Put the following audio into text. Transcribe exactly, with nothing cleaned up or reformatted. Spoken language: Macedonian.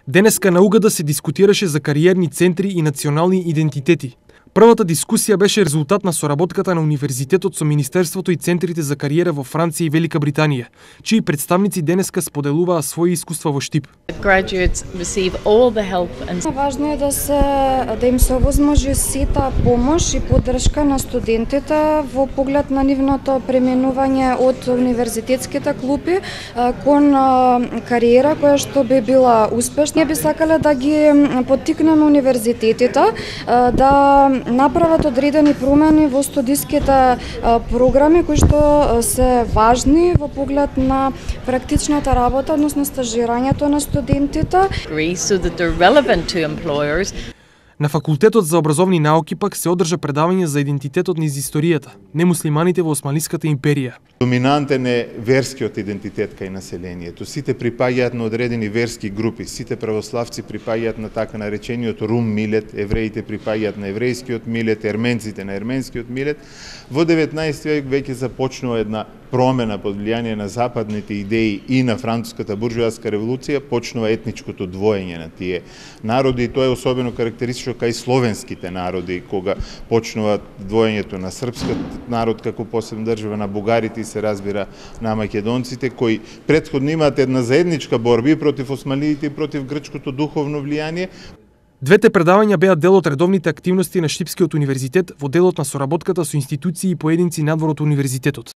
Денеска на Угада се дискутираше за кариерни центри и национални идентитети. Првата дискусија беше резултат на соработката на Универзитетот со Министерството и центрите за кариера во Франција и Велика Британија, чии представници денеска споделуваа своји искуства во Штип. Важно е да се да им се овозможи сета помош и поддршка на студентите во поглед на нивното преминување од универзитетските клупи кон кариера која што би била успешна. Ние би сакале да ги поттикнеме универзитетите да направат одредени промени во студиските програми кои што се важни во поглед на практичната работа, односно стажирањето на студентите. На Факултетот за образовни науки пак се одржа предавање за идентитетот низ историјата, немуслиманите во Османлиската империја. Доминантен е верскиот идентитет кај населението. Сите припаѓаат на одредени верски групи, сите православци припаѓаат на така наречениот рум милет, евреите припаѓаат на еврејскиот милет, ерменците на ерменскиот милет. Во деветнаесети век веќе започнува една промена под влијание на западните идеи и на француската буржуазска револуција, почнува етничкото двоење на тие народи, и тоа е особено карактеристично кај словенските народи, кога почнува двоењето на српскиот народ како посебна држава, на бугарите и се разбира на македонците, кои претходно имаат една заедничка борба и против османлиите и против грчкото духовно влијание. Двете предавања беа дел од редовните активности на Штипскиот универзитет во делот на соработката со институции и поединци надвор од универзитетот.